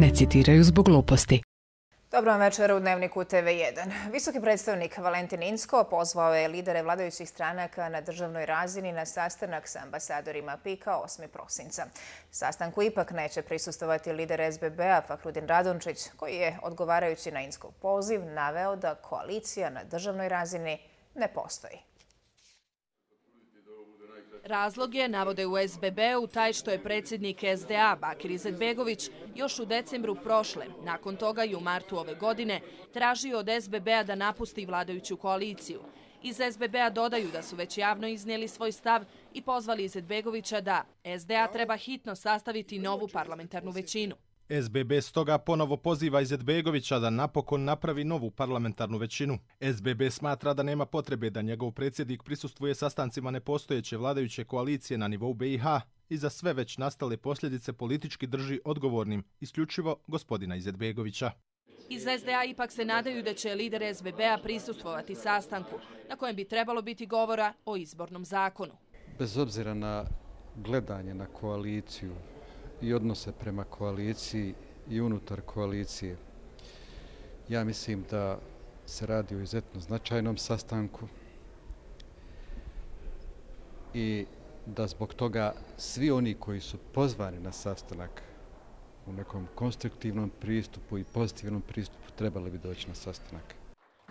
ne citiraju zbog gluposti. Dobro večer u Dnevniku TV1. Visoki predstavnik Valentin Incko pozvao je lidere vladajućih stranaka na državnoj razini na sastanak sa ambasadorima PIK-a 8. prosinca. Sastanku ipak neće prisustvovati lider SBB-a Fahrudin Radončić, koji je, odgovarajući na Inckov poziv, naveo da koalicija na državnoj razini ne postoji. Razlog je, navode u SBB-u, taj što je predsjednik SDA Bakir Izetbegović još u decembru prošle, nakon toga i u martu ove godine, tražio od SBB-a da napusti vladajuću koaliciju. Iz SBB-a dodaju da su već javno iznijeli svoj stav i pozvali Izetbegovića da SDA treba hitno sastaviti novu parlamentarnu većinu. SBB stoga ponovo poziva Izetbegovića da napokon napravi novu parlamentarnu većinu. SBB smatra da nema potrebe da njegov predsjednik prisustvuje sastancima nepostojeće vladajuće koalicije na nivou BiH i za sve već nastale posljedice politički drži odgovornim isključivo gospodina Izetbegovića. Iz SDA ipak se nadaju da će lider SBB-a prisustvovati sastanku, na kojem bi trebalo biti govora o izbornom zakonu. Bez obzira na gledanje na koaliciju i odnose prema koaliciji i unutar koalicije, ja mislim da se radi o izuzetno značajnom sastanku i da zbog toga svi oni koji su pozvani na sastanak u nekom konstruktivnom pristupu i pozitivnom pristupu trebali bi doći na sastanak.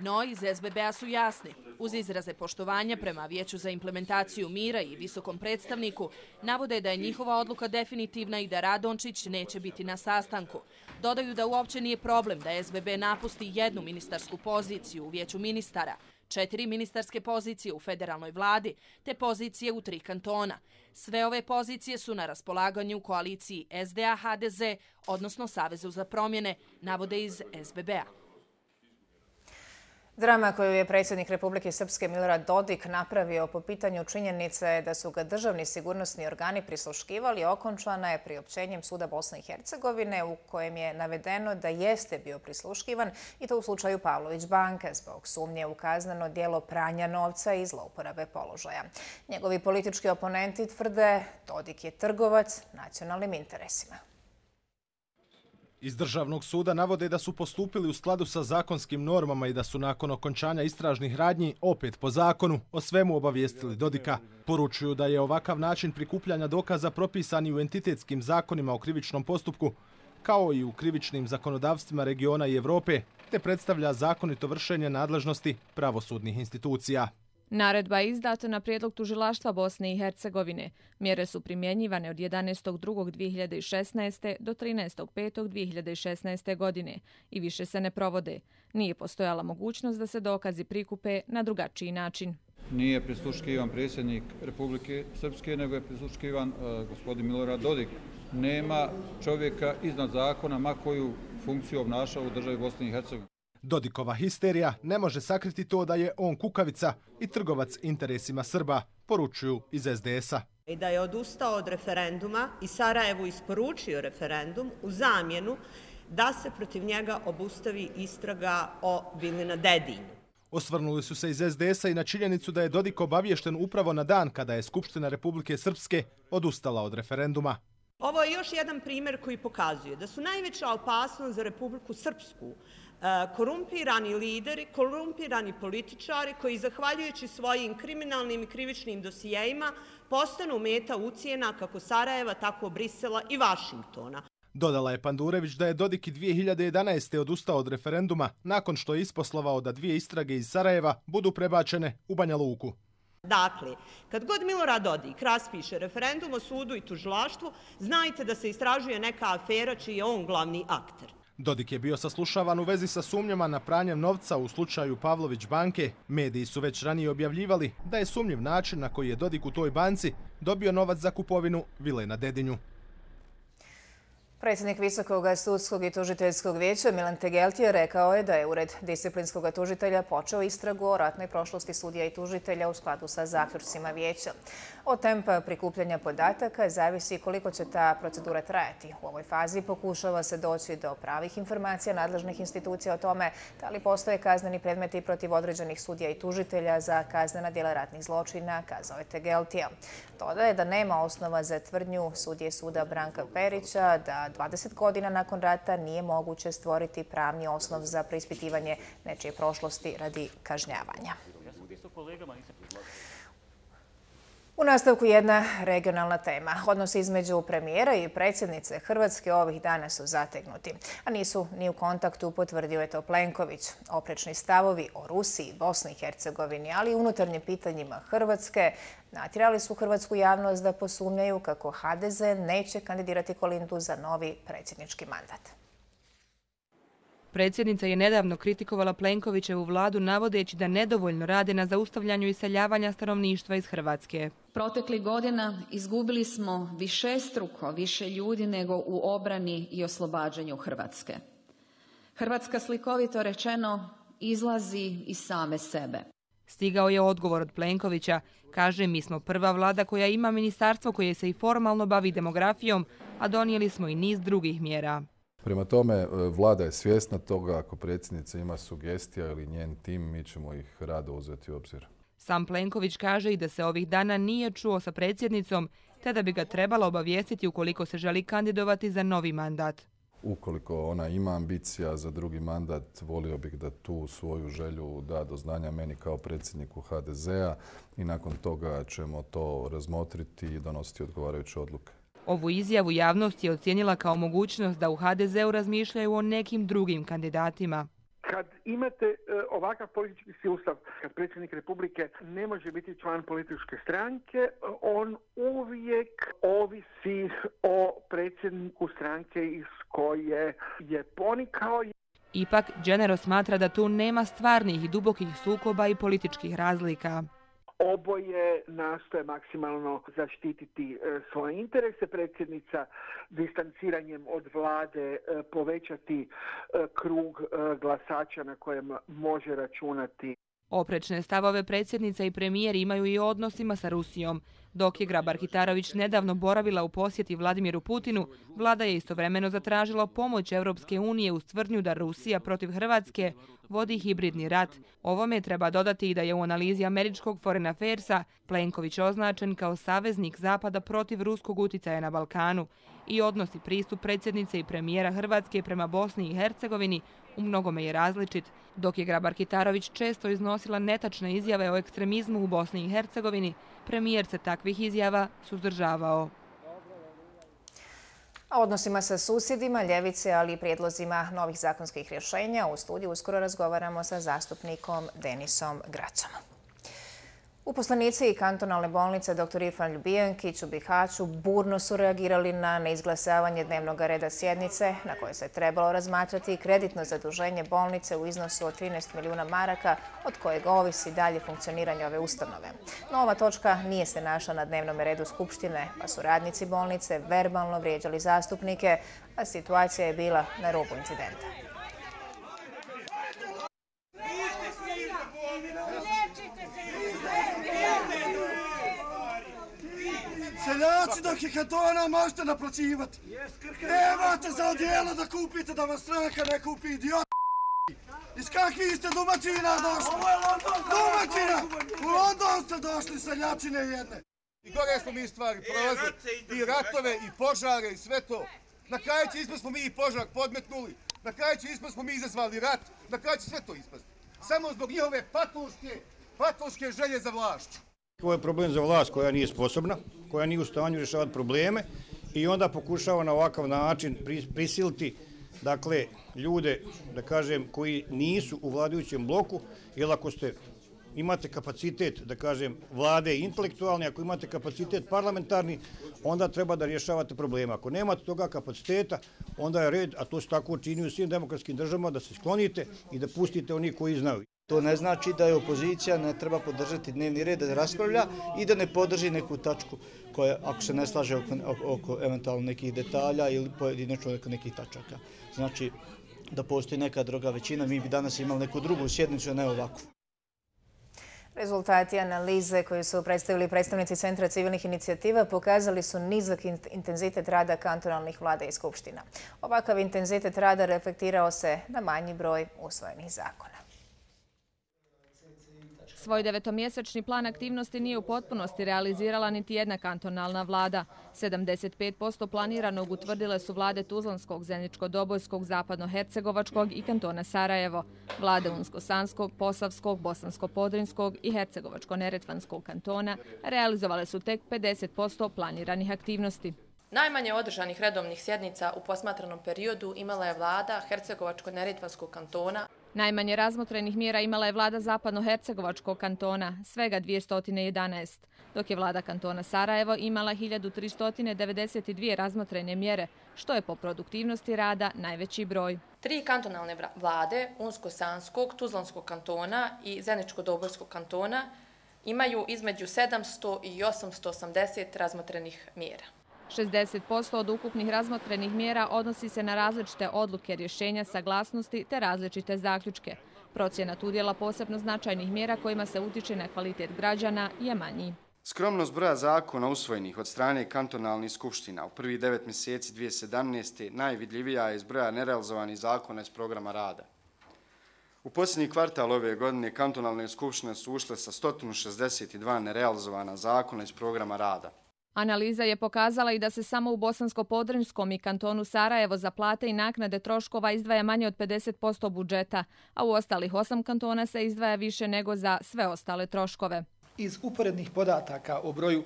No, iz SBB-a su jasni. Uz izraze poštovanja prema Vijeću za implementaciju mira i visokom predstavniku, navode da je njihova odluka definitivna i da Radončić neće biti na sastanku. Dodaju da uopće nije problem da SBB napusti jednu ministarsku poziciju u Vijeću ministara, 4 ministarske pozicije u federalnoj vladi, te pozicije u 3 kantona. Sve ove pozicije su na raspolaganju u koaliciji SDA-HDZ, odnosno Savezu za promjene, navode iz SBB-a. Drama koju je predsjednik Republike Srpske Milorad Dodik napravio po pitanju činjenice da su ga državni sigurnosni organi prisluškivali okončana je priopćenjem Suda Bosne i Hercegovine u kojem je navedeno da jeste bio prisluškivan i to u slučaju Pavlović banke zbog sumnje u kazneno djelo pranja novca i zlouporabe položaja. Njegovi politički oponenti tvrde Dodik je trgovac nacionalnim interesima. Iz Državnog suda navode da su postupili u skladu sa zakonskim normama i da su nakon okončanja istražnih radnji opet po zakonu o svemu obavijestili Dodika. Poručuju da je ovakav način prikupljanja dokaza propisani u entitetskim zakonima o krivičnom postupku, kao i u krivičnim zakonodavstvima regiona i Evrope, te predstavlja zakonito vršenje nadležnosti pravosudnih institucija. Naredba je izdata na prijedlog tužilaštva Bosne i Hercegovine. Mjere su primjenjivane od 11.2.2016. do 13.5.2016. godine i više se ne provode. Nije postojala mogućnost da se dokazi prikupe na drugačiji način. Nije prisluškivan predsjednik Republike Srpske, nego je prisluškivan gospodin Milorad Dodik. Nema čovjeka iznad zakona, ma koju funkciju obnašao u državi Bosne i Hercegovine. Dodikova histerija ne može sakriti to da je on kukavica i trgovac interesima Srba, poručuju iz SDS-a. I da je odustao od referenduma i Sarajevu isporučio referendum u zamjenu da se protiv njega obustavi istraga o vili na Dedinju. Osvrnuli su se iz SDS-a i na činjenicu da je Dodik obaviješten upravo na dan kada je Skupština Republike Srpske odustala od referenduma. Ovo je još jedan primjer koji pokazuje da su najveća opasnost za Republiku Srpsku korumpirani lideri, korumpirani političari koji, zahvaljujući svojim kriminalnim i krivičnim dosijejima, postanu meta ucjena kako Sarajeva, tako Brisela i Vašingtona. Dodala je Pandurević da je Dodik i 2011. odustao od referenduma nakon što je isposlovao da 2 istrage iz Sarajeva budu prebačene u Banja Luku. Dakle, kad god Milorad Dodik raspiše referendum o sudu i tužilaštvu, znajte da se istražuje neka afera čiji je on glavni akter. Dodik je bio saslušavan u vezi sa sumnjama na pranjem novca u slučaju Pavlović banke. Mediji su već ranije objavljivali da je sumnjiv način na koji je Dodik u toj banci dobio novac za kupovinu vile na Dedinju. Predsjednik Visokog sudskog i tužiteljskog vijeća Milan Tegeltije rekao je da je Ured disciplinskog tužitelja počeo istragu o ratnoj prošlosti sudija i tužitelja u skladu sa zaključcima vijeća. Od tempa prikupljanja podataka zavisi koliko će ta procedura trajati. U ovoj fazi pokušava se doći do pravih informacija nadležnih institucija o tome da li postoje kazneni predmeti protiv određenih sudija i tužitelja za kaznena djela ratnih zločina, kazao je Tegeltije. Dodaje da nema osnova za tvrdnju sudije suda Branka Perića da da 20 godina nakon rata nije moguće stvoriti pravni osnov za preispitivanje nečije prošlosti radi kažnjavanja. U nastavku jedna regionalna tema. Odnosi između premijera i predsjednice Hrvatske ovih dana su zategnuti, a nisu ni u kontaktu, potvrdio je to Plenković. Oprečni stavovi o Rusiji, Bosni i Hercegovini, ali i unutarnjim pitanjima Hrvatske natjerali su hrvatsku javnost da posumnjaju kako HDZ neće kandidirati Kolindu za novi predsjednički mandat. Predsjednica je nedavno kritikovala Plenkovićevu vladu navodeći da nedovoljno rade na zaustavljanju iseljavanja stanovništva iz Hrvatske. Proteklih godina izgubili smo višestruko više ljudi nego u obrani i oslobađanju Hrvatske. Hrvatska, slikovito rečeno, izlazi iz same sebe. Stigao je odgovor od Plenkovića. Kaže, mi smo prva vlada koja ima ministarstvo koje se i formalno bavi demografijom, a donijeli smo i niz drugih mjera. Prema tome, vlada je svjesna toga, ako predsjednica ima sugestija ili njen tim, mi ćemo ih rado uzeti u obzir. Sam Plenković kaže i da se ovih dana nije čuo sa predsjednicom, te da bi ga trebalo obavijestiti ukoliko se želi kandidovati za novi mandat. Ukoliko ona ima ambicija za drugi mandat, volio bih da tu svoju želju da do znanja meni kao predsjedniku HDZ-a i nakon toga ćemo to razmotriti i donositi odgovarajuće odluke. Ovu izjavu javnost je ocijenila kao mogućnost da u HDZ-u razmišljaju o nekim drugim kandidatima. Kad imate ovakav politički sustav, kad predsjednik Republike ne može biti član političke stranke, on uvijek ovisi o predsjedniku stranke iz koje je ponikao. Ipak, Đenero smatra da tu nema stvarnih i dubokih sukoba i političkih razlika. Oboje nastoje maksimalno zaštititi svoje interese. Predsjednica distanciranjem od vlade povećati krug glasača na kojem može računati. Oprečne stavove predsjednica i premijer imaju i o odnosima sa Rusijom. Dok je Grabar-Kitarović nedavno boravila u posjeti Vladimiru Putinu, vlada je istovremeno zatražila pomoć Europske unije uz tvrdnju da Rusija protiv Hrvatske vodi hibridni rat. Ovome treba dodati i da je u analizi američkog Foreign Affairsa Plenković označen kao saveznik Zapada protiv ruskog uticaja na Balkanu i odnos i pristup predsjednice i premijera Hrvatske prema Bosni i Hercegovini u mnogome je različit. Dok je Grabar-Kitarović često iznosila netačne izjave o ekstremizmu u Bosni i Hercegovini, premijer se takvih izjava suzdržavao. O odnosima sa susjedima, ljevice, ali i prijedlozima novih zakonskih rješenja u studiju uskoro razgovaramo sa zastupnikom Denisom Gracom. Uposlenici kantonalne bolnice dr. Irfan Ljubijankić u Bihaću burno su reagirali na neizglasavanje dnevnog reda sjednice na kojoj se trebalo razmatrati kreditno zaduženje bolnice u iznosu od 13 milijuna maraka, od kojeg ovisi dalje funkcioniranje ove ustanove. No, ova točka nije se našla na dnevnom redu Skupštine, pa su radnici bolnice verbalno vrijeđali zastupnike, a situacija je bila na rubu incidenta. Seljaci dok je kantona možete naplaćivati. Nemate za odijelo da kupite da vas stranka ne kupi, idiot. Iz kakvih ste domaćina došli? Domaćina! U London ste došli, seljačine jedne. I gore smo mi stvari prolazili, i ratove, i požare, i sve to. Na kraju će ispast smo mi i požar podmetnuli, na kraju će ispast smo mi izazvali rat, na kraju će sve to ispast. Samo zbog njihove patološke želje za vlašću. Ovo je problem za vlast koja nije sposobna, koja nije u stanju rješavati probleme i onda pokušava na ovakav način prisiliti ljude, da kažem, koji nisu u vladajućem bloku, jer ako imate kapacitet, da kažem, vlade intelektualni, ako imate kapacitet parlamentarni, onda treba da rješavate probleme. Ako nemate toga kapaciteta, onda je red, a to se tako čini u svim demokratskim državama, da se sklonite i da pustite oni koji znaju. To ne znači da je opozicija ne treba podržati dnevni red, da raspravlja i da ne podrži neku tačku koja, ako se ne slaže oko eventualno nekih detalja ili pojedinačno nekih tačaka. Znači da postoji neka druga većina, mi bi danas imali neku drugu sjednicu, a ne ovakvu. Rezultati analize koju su predstavili predstavnici Centra civilnih inicijativa pokazali su nizak intenzitet rada kantonalnih vlada i skupština. Ovakav intenzitet rada reflektirao se na manji broj usvojenih zakona. Svoj 9-mjesečni plan aktivnosti nije u potpunosti realizirala niti jedna kantonalna vlada. 75% planiranog utvrdile su vlade Tuzlanskog, Zeničko-Dobojskog, Zapadno-Hercegovačkog i kantona Sarajevo. Vlade Unsko-Sanskog, Posavskog, Bosansko-Podrinskog i Hercegovačko-Neretvanskog kantona realizovale su tek 50% planiranih aktivnosti. Najmanje održanih redovnih sjednica u posmatranom periodu imala je vlada Hercegovačko-Neretvanskog kantona. Najmanje razmotrenih mjera imala je vlada Zapadno-Hercegovačkog kantona, svega 211, dok je vlada kantona Sarajevo imala 1392 razmotrene mjere, što je po produktivnosti rada najveći broj. 3 kantonalne vlade Unsko-Sanskog, Tuzlanskog kantona i Zeničko-Dobojskog kantona imaju između 700 i 880 razmotrenih mjera. 60% od ukupnih razmotrenih mjera odnosi se na različite odluke, rješenja, saglasnosti te različite zaključke. Procenat udjela posebno značajnih mjera kojima se utiče na kvalitet građana je manji. Skromnost broja zakona usvojenih od strane kantonalnih skupština u prvih 9 mjeseci 2017. najvidljivija je iz broja nerealizovanih zakona iz programa rada. U posljednji kvartal ove godine kantonalne skupštine su ušle sa 162 nerealizovana zakona iz programa rada. Analiza je pokazala i da se samo u Bosansko-Podrinjskom i kantonu Sarajevo za plate i naknade troškova izdvaja manje od 50% budžeta, a u ostalih 8 kantona se izdvaja više nego za sve ostale troškove. Iz uporednih podataka o broju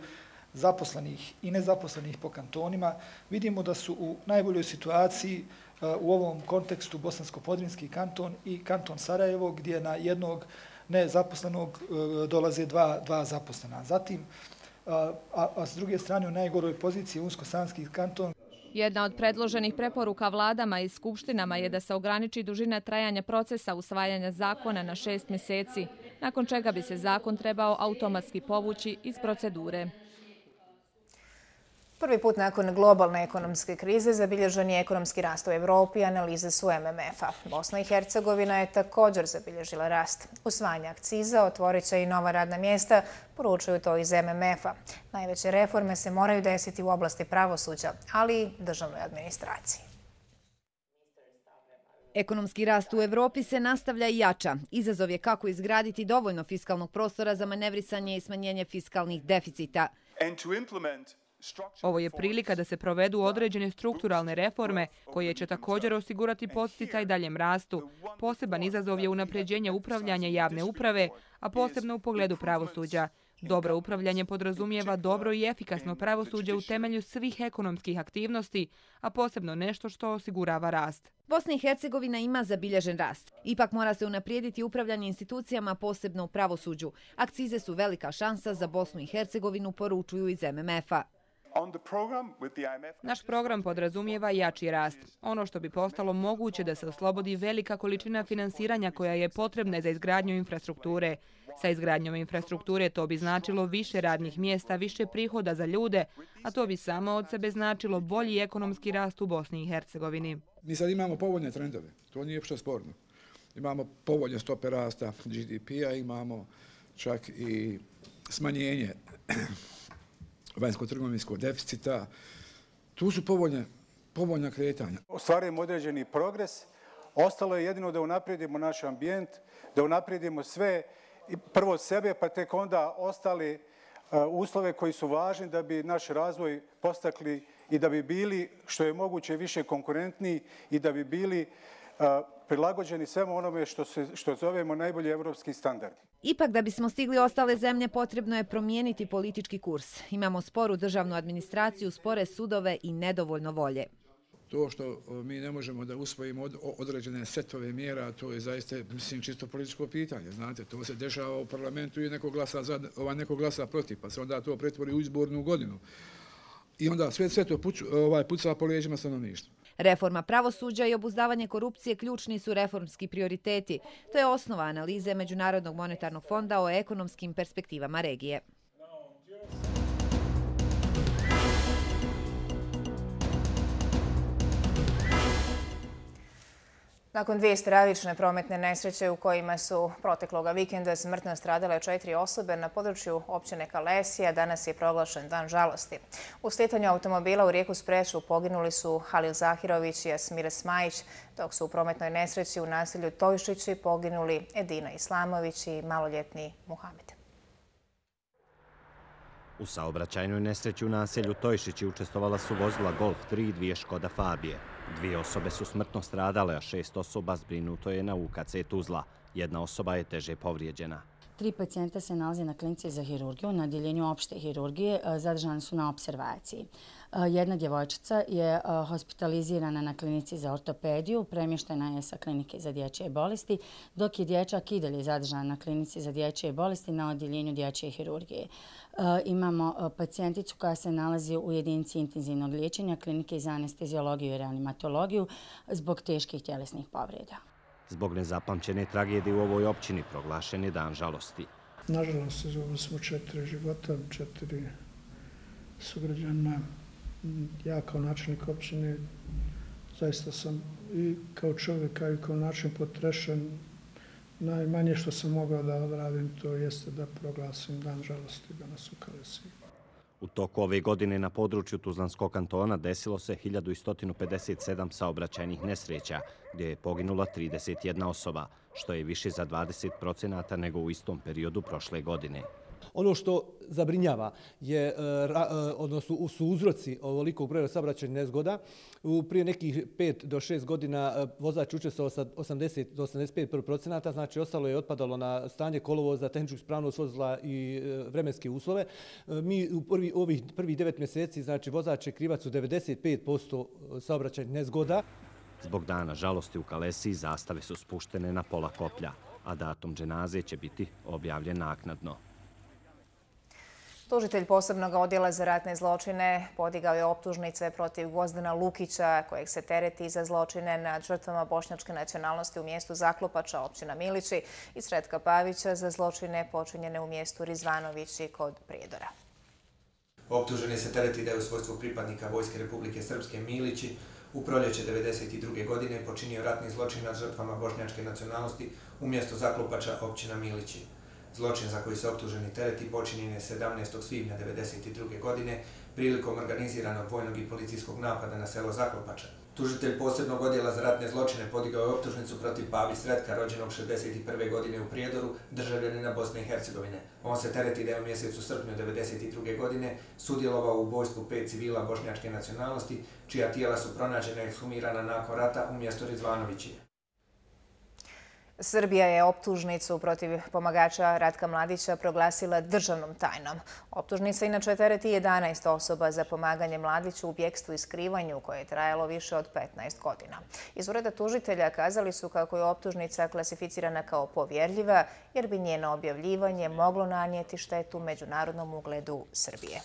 zaposlenih i nezaposlenih po kantonima vidimo da su u najboljoj situaciji u ovom kontekstu Bosansko-Podrinjski kanton i kanton Sarajevo, gdje na jednog nezaposlenog dolaze dva zaposlena. Zatim, a s druge strane u najgoroj poziciji Unsko-Sanski kanton. Jedna od predloženih preporuka vladama i skupštinama je da se ograniči dužina trajanja procesa usvajanja zakona na 6 mjeseci, nakon čega bi se zakon trebao automatski povući iz procedure. Prvi put nakon globalne ekonomske krize zabilježen je ekonomski rast u Evropi, analize su MMF-a. Bosna i Hercegovina je također zabilježila rast. Usvajanje akciza otvorit će i nova radna mjesta, poručuju to iz MMF-a. Najveće reforme se moraju desiti u oblasti pravosuđa, ali i državnoj administraciji. Ekonomski rast u Evropi se nastavlja i jača. Izazov je kako izgraditi dovoljno fiskalnog prostora za manevrisanje i smanjenje fiskalnih deficita. Ovo je prilika da se provedu određene strukturalne reforme koje će također osigurati podsticaj daljem rastu. Poseban izazov je unapređenje upravljanja javne uprave, a posebno u pogledu pravosuđa. Dobro upravljanje podrazumijeva dobro i efikasno pravosuđe u temelju svih ekonomskih aktivnosti, a posebno nešto što osigurava rast. Bosna i Hercegovina ima zabilježen rast. Ipak mora se unaprijediti upravljanje institucijama, posebno u pravosuđu. Akcize su velika šansa za Bosnu i Hercegovinu, poručuju iz MMF-a. Naš program podrazumijeva jači rast. Ono što bi postalo moguće da se oslobodi velika količina finansiranja koja je potrebna za izgradnju infrastrukture. Sa izgradnjom infrastrukture to bi značilo više radnih mjesta, više prihoda za ljude, a to bi samo od sebe značilo bolji ekonomski rast u Bosni i Hercegovini. Mi sad imamo povoljne trendove, to nije uopšte sporno. Imamo povoljne stope rasta GDP-a, imamo čak i smanjenje vanjsko-trgovinskog deficita. Tu su povoljna kretanja. Ostvarujemo određeni progres. Ostalo je jedino da unaprijedimo naš ambijent, da unaprijedimo sve, prvo sebe, pa tek onda ostali uslove koji su važni da bi naš razvoj postakli i da bi bili što je moguće više konkurentniji i da bi bili prilagođeni svemu onome što zovemo najbolji evropski standard. Ipak da bismo stigli ostale zemlje potrebno je promijeniti politički kurs. Imamo sporu državnu administraciju, spore sudove i nedovoljno volje. To što mi ne možemo da usvojimo određene setove mjera, to je zaista, mislim, čisto političko pitanje. Znate, to se dešava u parlamentu i neko glasa za, neko glasa protiv, pa se onda to pretvori u izbornu godinu. I onda sve to puca po leđima stanovništva. Reforma pravosuđa i obuzdavanje korupcije ključni su reformski prioriteti. To je osnova analize Međunarodnog monetarnog fonda o ekonomskim perspektivama regije. Nakon dvije stravične prometne nesreće u kojima su protekloga vikenda smrtno stradale 4 osobe na području općine Kalesija, danas je proglašen dan žalosti. U slitanju automobila u rijeku Spreču poginuli su Halil Zahirović i Jasmira Smajić, dok su u prometnoj nesreći u naselju Tojšići poginuli Edina Islamović i maloljetni Muhamed. U saobraćajnoj nesreći u naselju Tojšići učestvovala su vozila Golf 3 i 2 Škoda Fabije. 2 osobe su smrtno stradale, a 6 osoba zbrinuto je na UKC Tuzla. 1 osoba je teže povrijeđena. 3 pacijenta se nalazi na klinici za hirurgiju, na odjeljenju opšte hirurgije, zadržani su na observaciji. Jedna djevojčica je hospitalizirana na klinici za ortopediju, premještena je sa klinike za dječje bolesti, dok je dječak i dalje zadržan na klinici za dječje bolesti na odjeljenju dječje hirurgije. Imamo pacijenticu koja se nalazi u jedinici intenzivnog liječenja klinike za anesteziologiju i reanimatologiju zbog teških tjelesnih povreda. Zbog nezapamćene tragedije u ovoj općini proglašen je dan žalosti. Nažalost, izgubili smo 4 života, 4 sugrađana. Ja kao načelnik općine zaista sam i kao čovjek, i kao načelnik potrešen. Najmanje što sam mogao da odradim to jeste da proglasim dan žalosti danas u Kalesiji. U toku ove godine na području Tuzlanskog kantona desilo se 1157 saobraćajnih nesreća, gdje je poginula 31 osoba, što je više za 20% nego u istom periodu prošle godine. Ono što zabrinjava su uzroci ovolikog broja saobraćajnih nezgoda. Prije nekih 5 do 6 godina vozač učestvovao sa 80 do 85%, znači ostalo je otpadalo na stanje kolovoza, tehničku ispravnost vozila i vremenske uslove. Mi u ovih prvih 9 mjeseci, znači vozač je krivac u 95% saobraćajnih nezgoda. Zbog dana žalosti u Kalesiji zastave su spuštene na pola koplja, a datum dženaze će biti objavljen naknadno. Tužitelj posebnog odjela za ratne zločine podigao je optužnice protiv Gvozdana Lukića, kojeg se tereti za zločine nad žrtvama bošnjačke nacionalnosti u mjestu Zaklopača, općina Milići, i Sretka Pavića za zločine počinjene u mjestu Rizvanovići kod Prijedora. Optuženi se tereti da je u svojstvu pripadnika Vojske Republike Srpske Milići u proljeće 1992. godine počinio ratni zločin nad žrtvama bošnjačke nacionalnosti u mjestu Zaklopača, općina Milići. Zločin za koji se optuženi tereti počinjen je 17. svibnja 1992. godine prilikom organiziranog vojnog i policijskog napada na selo Zaklopača. Tužitelj posebnog odjela za ratne zločine podigao je optužnicu protiv Pavi Sretka, rođenog 61. godine u Prijedoru, državljanina Bosne i Hercegovine. On se tereti da je u mjesecu srpnju 1992. godine sudjelovao u ubojstvu 5 civila bošnjačke nacionalnosti, čija tijela su pronađena i ekshumirana nakon rata u mjestu Rizvanovići. Srbija je optužnicu protiv pomagača Ratka Mladića proglasila državnom tajnom. Optužnica inače tereti 11 osoba za pomaganje Mladiću u bjekstvu i skrivanju koje je trajalo više od 15 godina. Iz ureda tužitelja kazali su kako je optužnica klasificirana kao povjerljiva jer bi njeno objavljivanje moglo nanijeti štetu međunarodnom ugledu Srbije.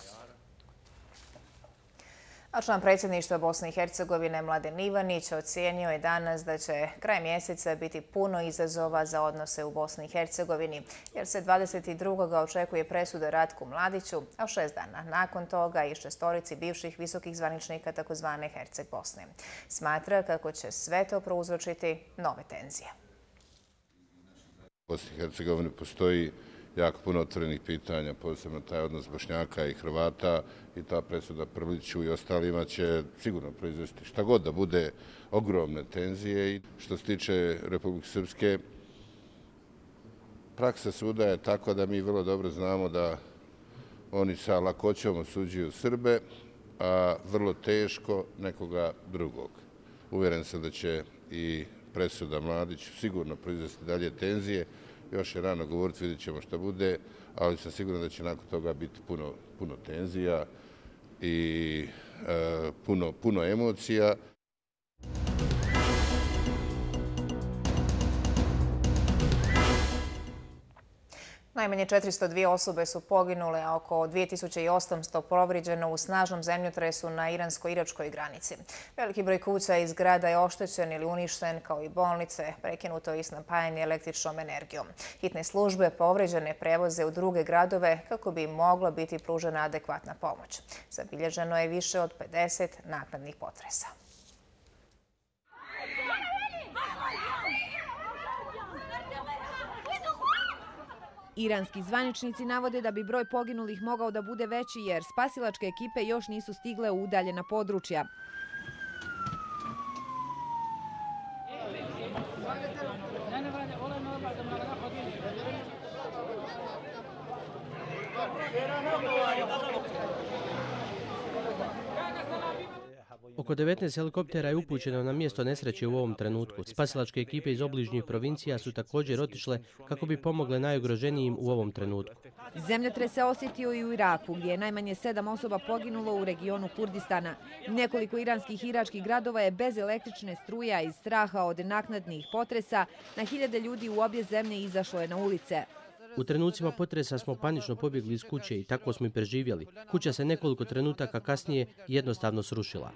A član predsjedništva Bosne i Hercegovine Mladen Ivanić ocijenio je danas da će kraj mjeseca biti puno izazova za odnose u Bosni i Hercegovini, jer se 22. očekuje presuda Ratku Mladiću, a 6 dana nakon toga i 6 bivših visokih zvaničnika tzv. Herceg Bosne. Smatra kako će sve to prouzročiti nove tenzije. U Bosni i Hercegovini postoji jako puno otvorenih pitanja, posebno taj odnos Bošnjaka i Hrvata, i ta presuda Prliću i ostalima će sigurno proizvesti šta god da bude ogromne tenzije. I što se tiče Republike Srpske, praksa suda je tako da mi vrlo dobro znamo da oni sa lakoćom osuđuju Srbe, a vrlo teško nekoga drugog. Uvjeren sam da će i presuda Mladiću sigurno proizvesti dalje tenzije. Još je rano govoriti, vidjet ćemo šta bude, ali sam siguran da će nakon toga biti puno tenzija i puno emocija. Najmanje 402 osobe su poginule, a oko 2800 povrijeđeno u snažnom zemljotresu na iransko-iračkoj granici. Veliki broj kuća i zgrada je oštećen ili uništen, kao i bolnice, prekinuto i snabdijanje električnom energijom. Hitne službe povrijeđene prevoze u druge gradove kako bi im mogla biti pružena adekvatna pomoć. Zabilježeno je više od 50 naknadnih potresa. Iranski zvaničnici navode da bi broj poginulih mogao da bude veći jer spasilačke ekipe još nisu stigle u udaljena područja. Oko 19 helikoptera je upućeno na mjesto nesreće u ovom trenutku. Spasilačke ekipe iz obližnjih provincija su također otišle kako bi pomogle najugroženijim u ovom trenutku. Zemljotres se osjetio i u Iraku, gdje je najmanje 7 osoba poginulo u regionu Kurdistana. Nekoliko iranskih i iračkih gradova je bez električne struje, a iz straha od naknadnih potresa na hiljade ljudi u obje zemlje izašlo je na ulice. U trenucima potresa smo panično pobjegli iz kuće i tako smo i preživjeli. Kuća se nekoliko trenutaka kasnije jednostavno srušila.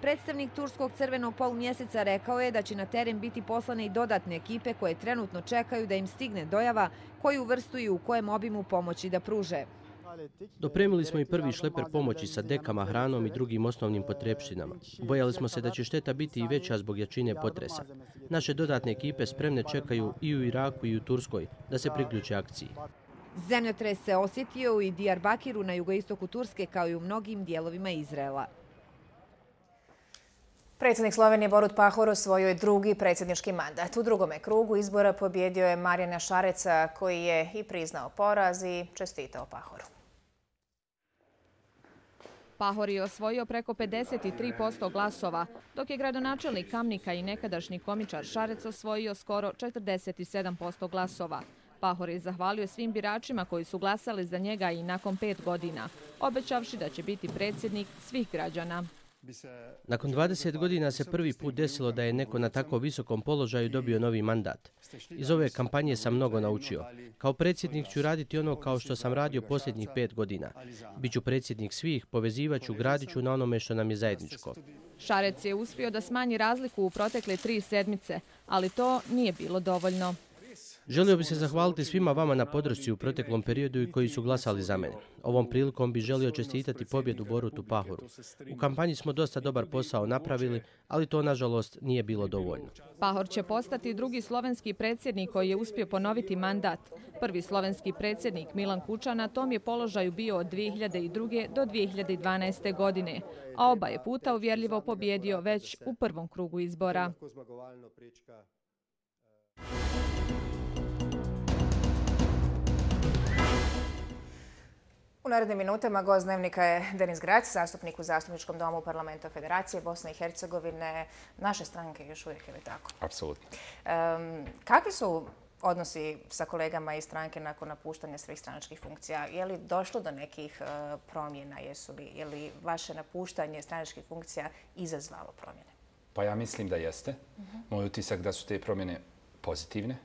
Predstavnik Turskog crvenog polumjeseca rekao je da će na teren biti poslane i dodatne ekipe koje trenutno čekaju da im stigne dojava koju vrstu i u kojem obimu pomoći da pruže. Dopremili smo i prvi šleper pomoći sa dekama, hranom i drugim osnovnim potrepštinama. Bojali smo se da će šteta biti i veća zbog jačine potresa. Naše dodatne ekipe spremne čekaju i u Iraku i u Turskoj da se priključe akciji. Zemljotres se osjetio i Diyarbakiru na jugoistoku Turske kao i u mnogim dijelovima Izraela. Predsjednik Slovenije Borut Pahor osvojio je drugi predsjednički mandat. U drugome krugu izbora pobjedio je Marjana Šareca, koji je i priznao poraz i čestitao Pahoru. Pahor je osvojio preko 53% glasova, dok je gradonačelnik Kamnika i nekadašnji komičar Šarec osvojio skoro 47% glasova. Pahor je zahvalio svim biračima koji su glasali za njega i nakon 5 godina, obećavši da će biti predsjednik svih građana. Nakon 20 godina se prvi put desilo da je neko na tako visokom položaju dobio novi mandat. Iz ove kampanje sam mnogo naučio. Kao predsjednik ću raditi ono kao što sam radio posljednjih 5 godina. Biću predsjednik svih, povezivaću, gradit ću na onome što nam je zajedničko. Šarec je uspio da smanji razliku u protekle 3 sedmice, ali to nije bilo dovoljno. Želio bi se zahvaliti svima vama na podršci u proteklom periodu i koji su glasali za mene. Ovom prilikom bi želio čestitati pobjedu Borutu Pahoru. U kampanji smo dosta dobar posao napravili, ali to nažalost nije bilo dovoljno. Pahor će postati drugi slovenski predsjednik koji je uspio ponoviti mandat. Prvi slovenski predsjednik Milan Kučan na tom je položaju bio od 2002. do 2012. godine, a oba je puta uvjerljivo pobjedio već u prvom krugu izbora. U narednim minutama gost dnevnika je Denis Grać, zastupnik u Zastupničkom domu Parlamenta Federacije Bosne i Hercegovine, naše stranke još uvijek, je li tako? Apsolutno. Kakvi su odnosi sa kolegama iz stranke nakon napuštanja svih stranačkih funkcija? Je li došlo do nekih promjena? Je li vaše napuštanje stranačkih funkcija izazvalo promjene? Pa ja mislim da jeste. Moj utisak da su te promjene pozitivne.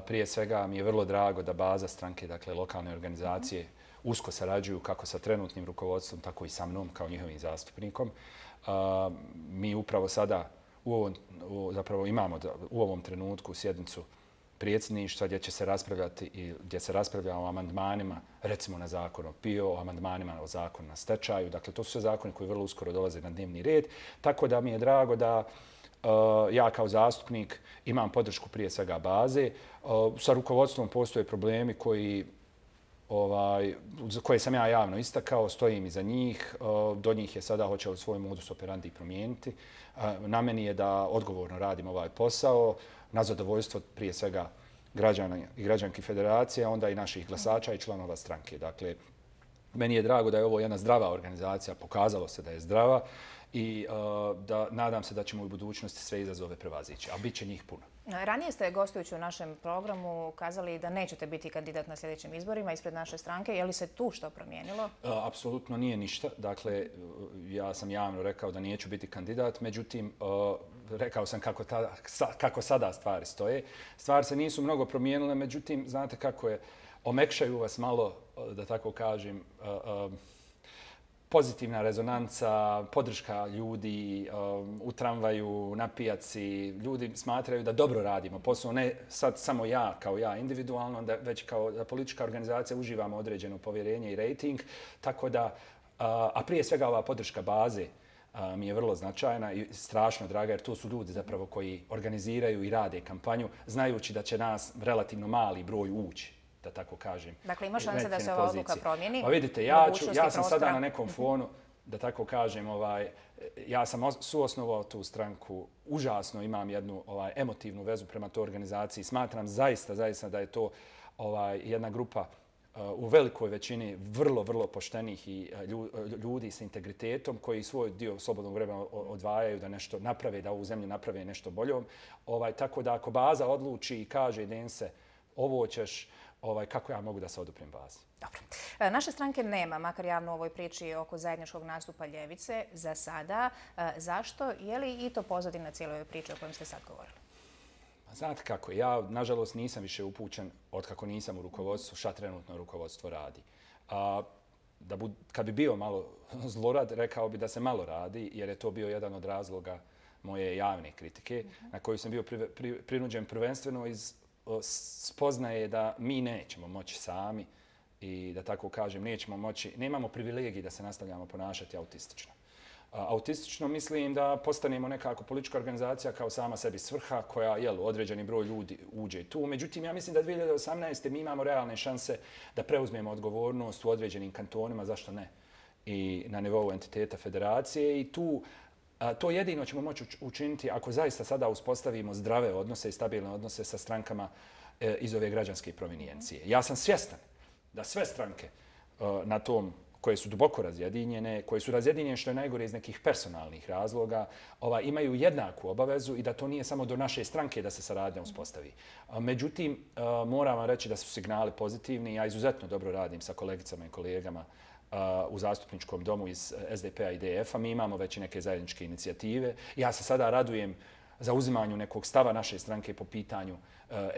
Prije svega mi je vrlo drago da baza stranke, dakle lokalne organizacije, usko sarađuju kako sa trenutnim rukovodstvom, tako i sa mnom kao njihovim zastupnikom. Mi upravo sada imamo u ovom trenutku sjednicu predsjedništva gdje će se raspravljati i gdje se raspravlja o amandmanima, recimo na zakon o PIO, o amandmanima o zakon na stečaju. Dakle, to su sve zakoni koji vrlo uskoro dolaze na dnevni red. Tako da mi je drago da ja kao zastupnik imam podršku prije svega baze. Sa rukovodstvom postoje problemi koje sam ja javno istakao, stojim iza njih. Do njih je sada hoće li svoj modus operandi promijeniti. Na meni je da odgovorno radim ovaj posao, na zadovoljstvo prije svega građana i građanki Federacije, a onda i naših glasača i članova stranke. Dakle, meni je drago da je ovo jedna zdrava organizacija, pokazalo se da je zdrava i nadam se da ćemo u budućnosti sve izazove prevazići, a bit će njih puno. Ranije ste, gostujući u našem programu, kazali da nećete biti kandidat na sljedećim izborima ispred naše stranke. Je li se tu što promijenilo? Apsolutno nije ništa. Dakle, ja sam javno rekao da neću biti kandidat, međutim, rekao sam kako sada stvari stoje. Stvari se nisu mnogo promijenile, međutim, znate kako je, omekšaju vas malo, da tako kažem, pozitivna rezonanca, podrška ljudi u tramvaju, na pijaci. Ljudi smatraju da dobro radimo posao, ne sad samo ja kao ja individualno, već kao da politička organizacija uživamo određeno povjerenje i rejting. Tako da, a prije svega ova podrška baze mi je vrlo značajna i strašno draga, jer to su ljudi zapravo koji organiziraju i rade kampanju, znajući da će nas relativno mali broj ući. da tako kažem. Dakle, ima šanse da se ova odluka promijeni? Pa vidite, ja sam sada na nekom fonu, da tako kažem, ja sam suosnovao tu stranku, užasno imam jednu emotivnu vezu prema toj organizaciji. Smatram zaista da je to jedna grupa u velikoj većini vrlo poštenih i ljudi s integritetom koji svoj dio slobodnog vremena odvajaju da nešto naprave, da ovu zemlju naprave nešto boljom. Tako da ako baza odluči i kaže Dense, ovo ćeš, kako ja mogu da se oduprem bazi? Dobro. Naše stranke nema, makar javno u ovoj priči oko zajedničkog nastupa ljevice, za sada. Zašto? Je li i to pozadina cijele ove priče o kojem ste sad govorili? Znate kako, ja nažalost nisam više upućen od kako nisam u rukovodstvu, šta trenutno rukovodstvo radi. Kad bi bio malo zlorad, rekao bi da se malo radi, jer je to bio jedan od razloga moje javne kritike, na koju sam bio prinuđen prvenstveno iz spoznaje da mi nećemo moći sami i da tako kažem, nemamo privilegij da se nastavljamo ponašati autistično. Autistično mislim da postanemo nekako politička organizacija kao sama sebi svrha koja, određeni broj ljudi uđe tu. Međutim, ja mislim da 2018. mi imamo realne šanse da preuzmemo odgovornost u određenim kantonima, zašto ne, i na nivou entiteta federacije i to jedino ćemo moći učiniti ako zaista sada uspostavimo zdrave odnose i stabilne odnose sa strankama iz ove građanske provenijencije. Ja sam svjestan da sve stranke na tom koje su duboko razjedinjene, koje su razjedinjene što je najgore iz nekih personalnih razloga, imaju jednaku obavezu i da to nije samo do naše stranke da se saradnja uspostavi. Međutim, moram vam reći da su signali pozitivni. Ja izuzetno dobro radim sa kolegicama i kolegama u zastupničkom domu iz SDP-a i DF-a. Mi imamo već i neke zajedničke inicijative. Ja se sada radujem za uzimanju nekog stava naše stranke po pitanju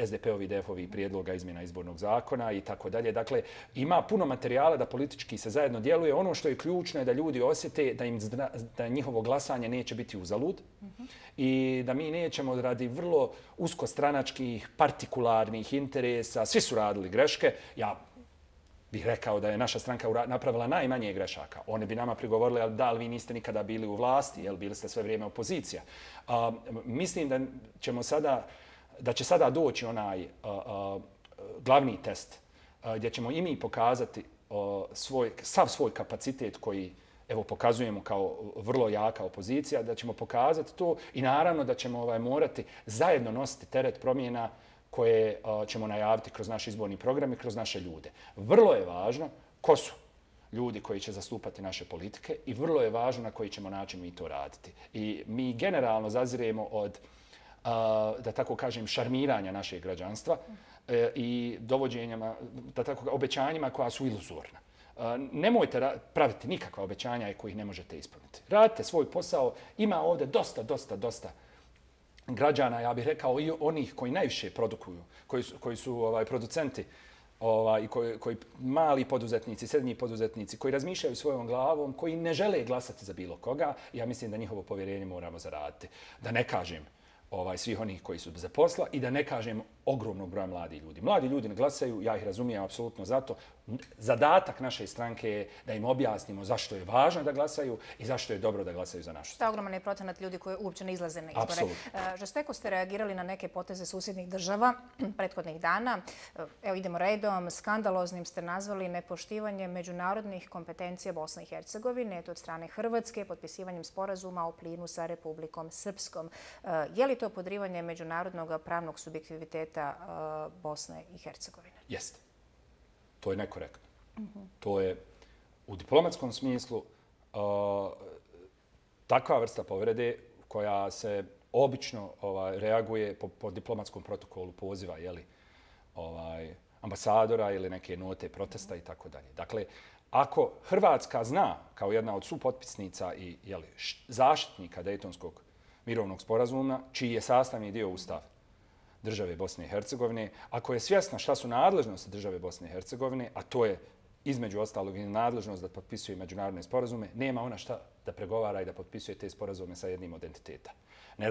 SDP-ovi i DF-ovi prijedloga izmjena izbornog zakona i tako dalje. Dakle, ima puno materijala da politički se zajedno djeluje. Ono što je ključno je da ljudi osjete da njihovo glasanje neće biti uzalud i da mi nećemo radi vrlo uskostranačkih, partikularnih interesa. Svi su radili greške. Ja bih rekao da je naša stranka napravila najmanje grešaka. Oni bi nama prigovorili da li vi niste nikada bili u vlasti, bili ste sve vrijeme opozicija. Mislim da će sada doći onaj glavni test gdje ćemo i mi pokazati sav svoj kapacitet koji pokazujemo kao vrlo jaka opozicija, da ćemo pokazati to i naravno da ćemo morati zajedno nositi teret promjena koje ćemo najaviti kroz naš izborni program i kroz naše ljude. Vrlo je važno ko su ljudi koji će zastupati naše politike i vrlo je važno na koji ćemo način mi to raditi. I mi generalno zaziremo od, da tako kažem, šarmiranja našeg građanstva i dovođenjama, da tako obećanjima koja su iluzorna. Nemojte praviti nikakva obećanja kojih ne možete ispuniti. Radite svoj posao. Ima ovdje dosta građana, ja bih rekao i onih koji najviše produkuju, koji su producenti, koji mali poduzetnici, srednji poduzetnici, koji razmišljaju svojom glavom, koji ne žele glasati za bilo koga. Ja mislim da njihovo povjerenje moramo zaraditi. Da ne kažem svih onih koji su bez posla i da ne kažem ogromnog broja mladih ljudi. Mladi ljudi ne glasaju, ja ih razumijem apsolutno zato. Zadatak naše stranke je da im objasnimo zašto je važno da glasaju i zašto je dobro da glasaju za našu stranku. Ogroman je procenat ljudi koji uopće ne izlaze na izbore. Žesteko ste reagirali na neke poteze susjednih država prethodnih dana. Evo idemo redom. Skandaloznim ste nazvali nepoštivanje međunarodnih kompetencija Bosne i Hercegovine, od strane Hrvatske, potpisivanjem sporazuma o plinu sa Republikom Srpskom. Je li to podrivanje međunarodnog pravnog subjektiviteta Bosne i Hercegovine? Jeste. To je nekorektno. To je u diplomatskom smislu takva vrsta povrede koja se obično reaguje po diplomatskom protokolu poziva ambasadora ili neke note protesta i tako dalje. Dakle, ako Hrvatska zna kao jedna od supotpisnica i zaštitnika Dejtonskog mirovnog sporazuma, čiji je sastavni dio Ustav države Bosne i Hercegovine, ako je svjesna šta su nadležnosti države Bosne i Hercegovine, a to je između ostalog i nadležnost da potpisuje međunarodne sporazume, nema ona šta da pregovara i da potpisuje te sporazume sa jednim od entiteta. Ne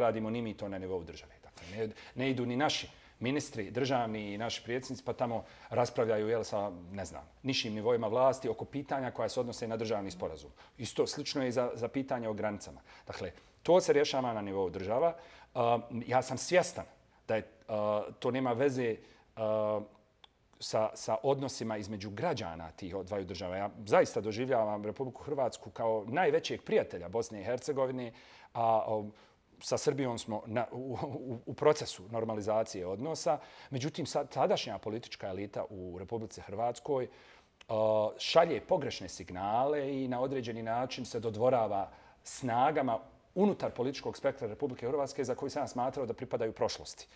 radimo ni mi to na nivou države. Dakle, ne idu ni naši ministri, državni i naši predsjednici, pa tamo raspravljaju sa, ne znam, nižim nivoima vlasti oko pitanja koja se odnose na državni sporazum. Isto slično je i za pitanje o granicama. Dakle, to se rješava na nivou država. Ja sam svjestan da to nema veze sa odnosima između građana tih dvaju država. Ja zaista doživljavam Republiku Hrvatsku kao najvećeg prijatelja Bosne i Hercegovine, a sa Srbijom smo u procesu normalizacije odnosa. Međutim, tadašnja politička elita u Republici Hrvatskoj šalje pogrešne signale i na određeni način se dodvorava snagama unutar političkog spektra Republike Hrvatske za koju sam smatrao da pripadaju prošlosti.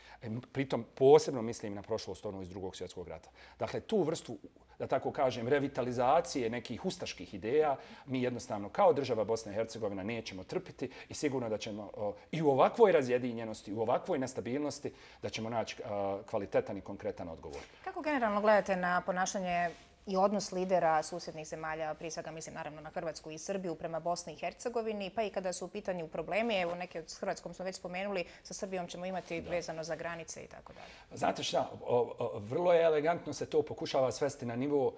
Pritom posebno mislim na prošlost iz Drugog svjetskog rata. Dakle, tu vrstu, da tako kažem, revitalizacije nekih ustaških ideja mi jednostavno kao država Bosna i Hercegovina nećemo trpiti i sigurno da ćemo i u ovakvoj razjedinjenosti, u ovakvoj nestabilnosti da ćemo naći kvalitetan i konkretan odgovor. Kako generalno gledate na ponašanje i odnos lidera susjednih zemalja, prije svega mislim naravno na Hrvatsku i Srbiju prema Bosni i Hercegovini, pa i kada su u pitanju problemi, evo neke s Hrvatskom smo već spomenuli, sa Srbijom ćemo imati vezano za granice i tako dalje. Znate šta, vrlo je elegantno se to pokušava svesti na nivo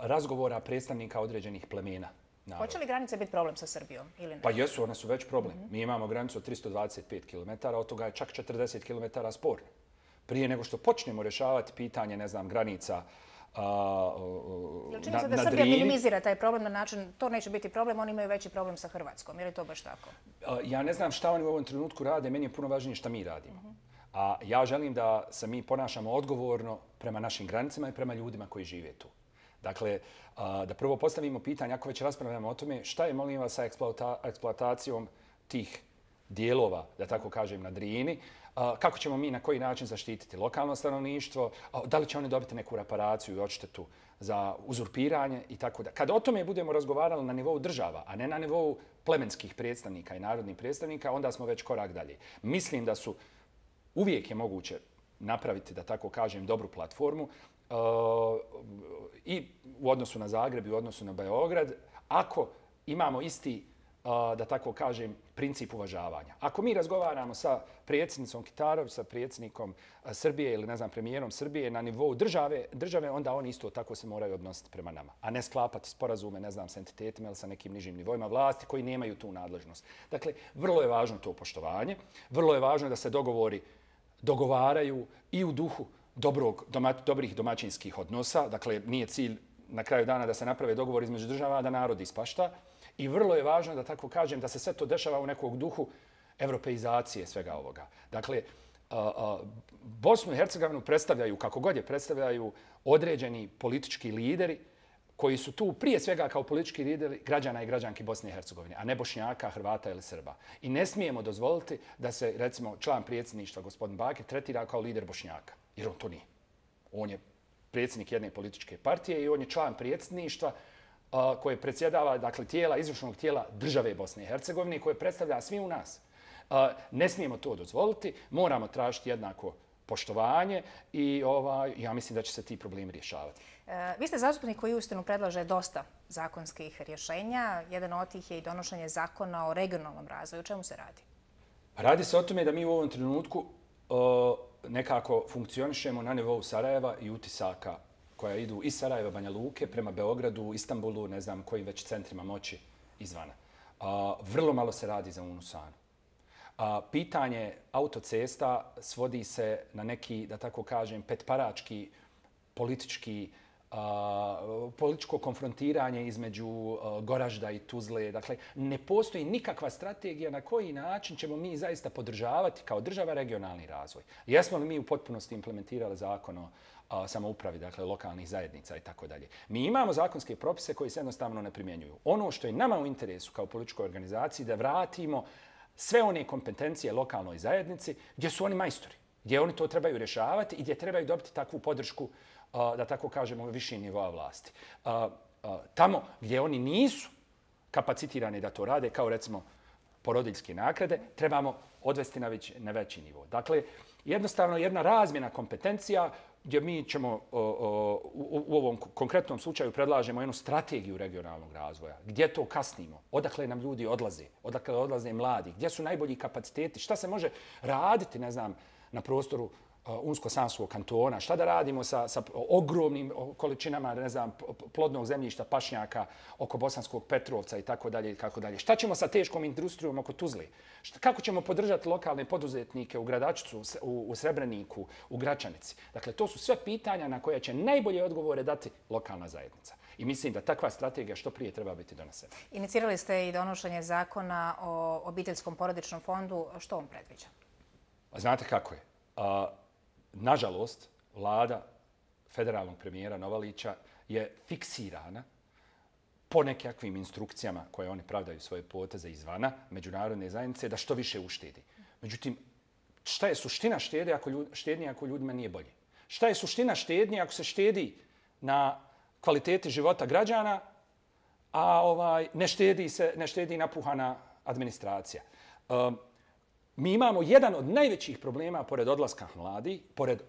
razgovora predstavnika određenih plemena. Hoće li granice biti problem sa Srbijom ili ne? Pa jesu, one su već problem. Mi imamo granicu od 325 km, od toga je čak 40 km sporno. Prije nego što počnemo rješavati pitanje, ne znam, granica Jel čini se da Srbija minimizira taj problem na način to neće biti problem, oni imaju veći problem sa Hrvatskom? Je li to baš tako? Ja ne znam šta oni u ovom trenutku rade, meni je puno važnije šta mi radimo. A ja želim da se mi ponašamo odgovorno prema našim granicama i prema ljudima koji žive tu. Dakle, da prvo postavimo pitanje, ako već raspravljamo o tome, šta je, molim vas, sa eksploatacijom tih dijelova, da tako kažem, na Drini, kako ćemo mi na koji način zaštititi lokalno stanovništvo, da li će oni dobiti neku reparaciju i odštetu za uzurpiranje i tako da. Kad o tome budemo razgovarali na nivou država, a ne na nivou plemenskih predstavnika i narodnih predstavnika, onda smo već korak dalje. Mislim da su uvijek je moguće napraviti, da tako kažem, dobru platformu i u odnosu na Zagreb i u odnosu na Beograd, ako imamo isti, da tako kažem, princip uvažavanja. Ako mi razgovaramo sa predsjednicom Kitarović, sa predsjednikom Srbije ili, ne znam, premijerom Srbije na nivou države, onda oni isto tako se moraju odnositi prema nama, a ne sklapati sporazume, ne znam, s entitetima ili sa nekim nižim nivoima vlasti koji nemaju tu nadležnost. Dakle, vrlo je važno to poštovanje, vrlo je važno da se dogovaraju i u duhu dobrih domaćinskih odnosa. Dakle, nije cilj na kraju dana da se naprave dogovor između država, da narod ispašta. I vrlo je važno, da tako kažem, da se sve to dešava u nekog duhu evropeizacije svega ovoga. Dakle, Bosnu i Hercegovinu predstavljaju, kako god je predstavljaju, određeni politički lideri koji su tu prije svega kao politički lideri građana i građanki Bosne i Hercegovine, a ne Bošnjaka, Hrvata ili Srba. I ne smijemo dozvoliti da se, recimo, član predsjedništva, gospodin Bakir, tretira kao lider Bošnjaka. Jer on to nije. On je predsjednik jedne političke partije i on je član predsjedništva koje predsjedava, dakle, izvršnog tijela države Bosne i Hercegovine, koje predstavlja svi u nas. Ne smijemo to dozvoliti, moramo tražiti jednako poštovanje i ja mislim da će se ti problemi rješavati. Vi ste zastupnik koji uistinu predlaže dosta zakonskih rješenja. Jedan od tih je i donošenje zakona o regionalnom razvoju. O čemu se radi? Radi se o tome da mi u ovom trenutku nekako funkcionišemo na nivou Sarajeva i utisaka koja idu iz Sarajeva, Banja Luke, prema Beogradu, Istanbulu, ne znam kojim već centrima moći izvana. Vrlo malo se radi za Unusanu. Pitanje autocesta svodi se na neki, da tako kažem, petparački političko konfrontiranje između Goražda i Tuzle. Dakle, ne postoji nikakva strategija na koji način ćemo mi zaista podržavati kao država regionalni razvoj. Jesmo li mi u potpunosti implementirali zakon o samoupravi, dakle lokalnih zajednica i tako dalje. Mi imamo zakonske propise koji se jednostavno ne primjenjuju. Ono što je nama u interesu kao političkoj organizaciji da vratimo sve one kompetencije lokalnoj zajednici gdje su oni majstori, gdje oni to trebaju rješavati i gdje trebaju dobiti takvu podršku, da tako kažemo, viših nivoa vlasti. Tamo gdje oni nisu kapacitirani da to rade, kao recimo porodiljske naknade, trebamo odvesti na veći nivo. Dakle, jednostavno jedna razmjena kompetencija gdje mi ćemo u ovom konkretnom slučaju predlažemo jednu strategiju regionalnog razvoja. Gdje to kasnimo? Odakle nam ljudi odlaze? Odakle odlaze mladi? Gdje su najbolji kapaciteti? Šta se može raditi, ne znam, na prostoru Unsko-Sanskog kantona, šta da radimo sa ogromnim količinama, ne znam, plodnog zemljišta, pašnjaka oko Bosanskog Petrovca i tako dalje i tako dalje. Šta ćemo sa teškom industrijom oko Tuzle? Kako ćemo podržati lokalne poduzetnike u Gradačcu, u Srebreniku, u Gračanici? Dakle, to su sve pitanja na koje će najbolje odgovore dati lokalna zajednica. I mislim da takva strategija što prije treba biti donesena. Inicirali ste i donošenje zakona o obiteljskom porodičnom fondu. Što on predviđa? Znate kako je? Nažalost, vlada federalnog premijera Novalića je fiksirana po nekakvim instrukcijama koje oni pravdaju svoje poteze izvana međunarodne zajednice da što više uštedi. Međutim, šta je suština štednje ako ljudima nije bolje? Šta je suština štednje ako se štedi na kvaliteti života građana, a ne štedi napuhana administracija? Mi imamo jedan od najvećih problema pored odlaska mladih, pored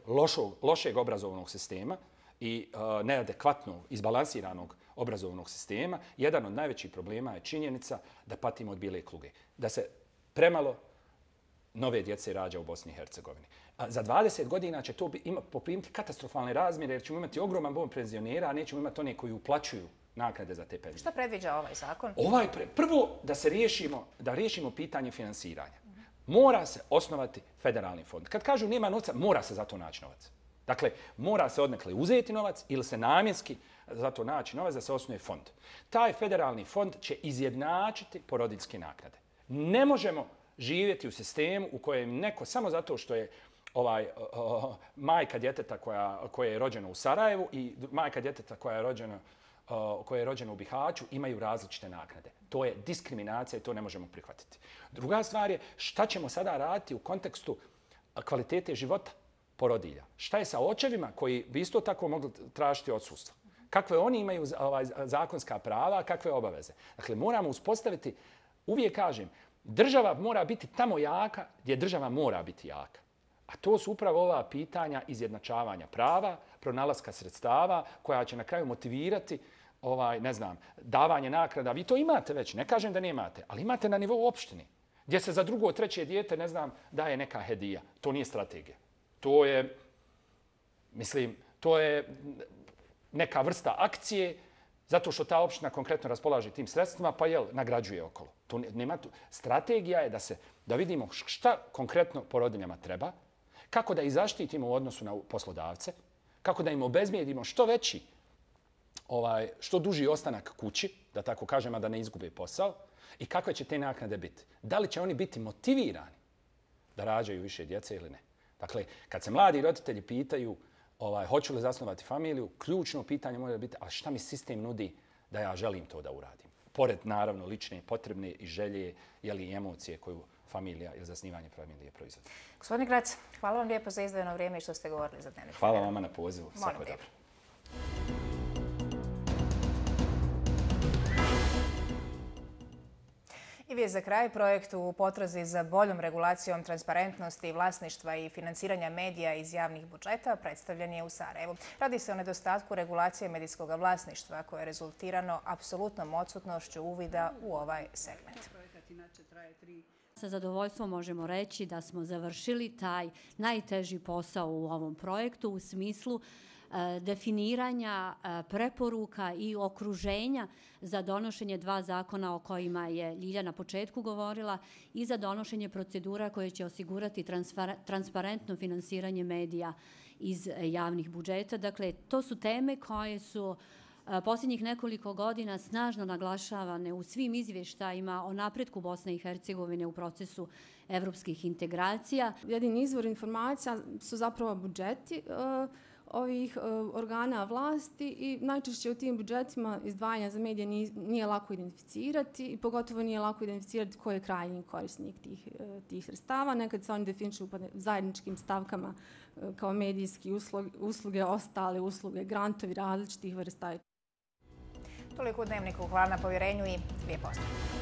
lošeg obrazovnog sistema i neadekvatnog, izbalansiranog obrazovnog sistema. Jedan od najvećih problema je činjenica da patimo od bijele kuge, da se premalo nove djece rađa u Bosni i Hercegovini. Za 20 godina će to poprimiti katastrofalne razmjere jer ćemo imati ogroman broj penzionera, a nećemo imati one koji uplaćuju naknade za te penzije. Šta predviđa ovaj zakon? Prvo, da riješimo pitanje finansiranja. Mora se osnovati federalni fond. Kad kažu nema novca, mora se za to naći novac. Dakle, mora se odnekle uzeti novac ili se namjenski za to naći novac da se osnuje fond. Taj federalni fond će izjednačiti porodiljske naknade. Ne možemo živjeti u sistemu u kojem neko samo zato što je majka djeteta koja je rođena u Sarajevu i majka djeteta koja je rođena u Bihaću imaju različite naknade. To je diskriminacija i to ne možemo prihvatiti. Druga stvar je šta ćemo sada raditi u kontekstu kvalitete života porodilja. Šta je sa očevima koji bi isto tako mogli tražiti odsustvo? Kakve oni imaju zakonska prava, kakve obaveze? Dakle, moramo uspostaviti, uvijek kažem, država mora biti tamo jaka gdje država mora biti jaka. A to su upravo ova pitanja izjednačavanja prava, pronalaska sredstava koja će na kraju motivirati davanje naknada. Vi to imate već, ne kažem da nemate, ali imate na nivou opštine, gdje se za drugo, treće dijete, daje neka hedija. To nije strategija. To je neka vrsta akcije, zato što ta opština konkretno raspolaže tim sredstvima, pa nagrađuje okolo. Strategija je da vidimo šta konkretno porodiljama treba, kako da ih zaštitimo u odnosu na poslodavce, kako da im obezbijedimo što duži ostanak kući, da tako kažem, a da ne izgube posao, i kakve će te naknade biti. Da li će oni biti motivirani da rađaju više djece ili ne? Dakle, kad se mladi roditelji pitaju hoću li zasnovati familiju, ključno pitanje mora biti a šta mi sistem nudi da ja želim to da uradim. Pored, naravno, lične, potrebne i želje i emocije koju familija ili zasnivanje familije proizvodi. Gospodine Grac, hvala vam lijepo za izdvojeno vrijeme i što ste govorili za Dnevnik. Hvala vama na pozivu. Molim lijepo. I vijest za kraj, projekt u potrazi za boljom regulacijom transparentnosti, vlasništva i financiranja medija iz javnih budžeta predstavljen je u Sarajevu. Radi se o nedostatku regulacije medijskog vlasništva koje je rezultirano apsolutnom odsutnošću uvida u ovaj segment. Sa zadovoljstvom možemo reći da smo završili taj najteži posao u ovom projektu u smislu definiranja preporuka i okruženja za donošenje 2 zakona o kojima je Ljilja na početku govorila i za donošenje procedura koje će osigurati transparentno finansiranje medija iz javnih budžeta. Dakle, to su teme koje su posljednjih nekoliko godina snažno naglašavane u svim izvještajima o napretku Bosne i Hercegovine u procesu evropskih integracija. Jedini izvor informacija su zapravo budžeti ovih organa vlasti i najčešće u tim budžetima izdvajanja za medije nije lako identificirati i pogotovo nije lako identificirati ko je krajnji korisnik tih sredstava. Nekad se oni definišu zajedničkim stavkama kao medijski usluge, ostale usluge, grantovi različitih vrsta. Toliko u Dnevniku. Hvala na povjerenju i lijep pozdrav.